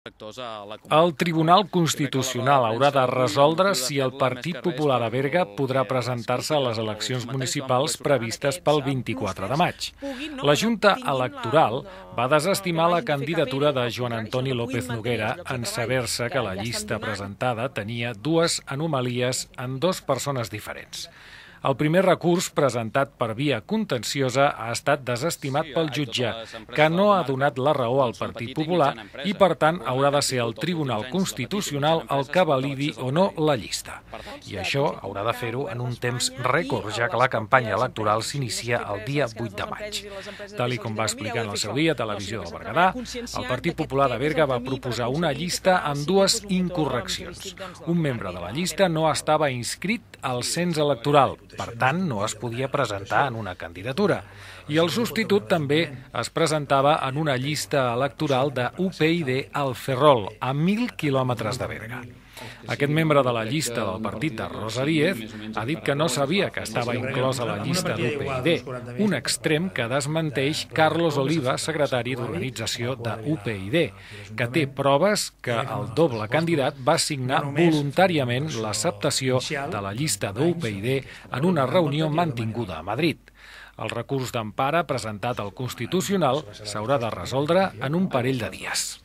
El Tribunal Constitucional haurà de resoldre si el Partit Popular a Berga podrà presentar-se a les eleccions municipals previstes pel 24 de maig. La Junta Electoral va desestimar la candidatura de Joan Antoni López Noguera en saber-se que la llista presentada tenia dues anomalies en dues persones diferents. El primer recurs, presentat per via contenciosa, ha estat desestimat pel jutge, que no ha donat la raó al Partit Popular i, per tant, haurà de ser el Tribunal Constitucional el que validi o no la llista. I això haurà de fer-ho en un temps rècord, ja que la campanya electoral s'inicia el dia 8 de maig. Tal com va explicar en el seu dia a Televisió del Berguedà, el Partit Popular de Berga va proposar una llista amb dues incorreccions. Un membre de la llista no estava inscrit al cens electoral, per tant, no es podia presentar en una candidatura. I el substitut també es presentava en una llista electoral de UPyD al Ferrol, a 1.000 quilòmetres de Berga. Aquest membre de la llista del partit de Rosa Díez ha dit que no sabia que estava inclòs a la llista d'UPyD, un extrem que desmenteix Carlos Oliva, secretari d'organització de UPyD, que té proves que el doble candidat va signar voluntàriament l'acceptació de la llista d'UPyD en una reunió mantinguda a Madrid. El recurs d'empara presentat al Constitucional s'haurà de resoldre en un parell de dies.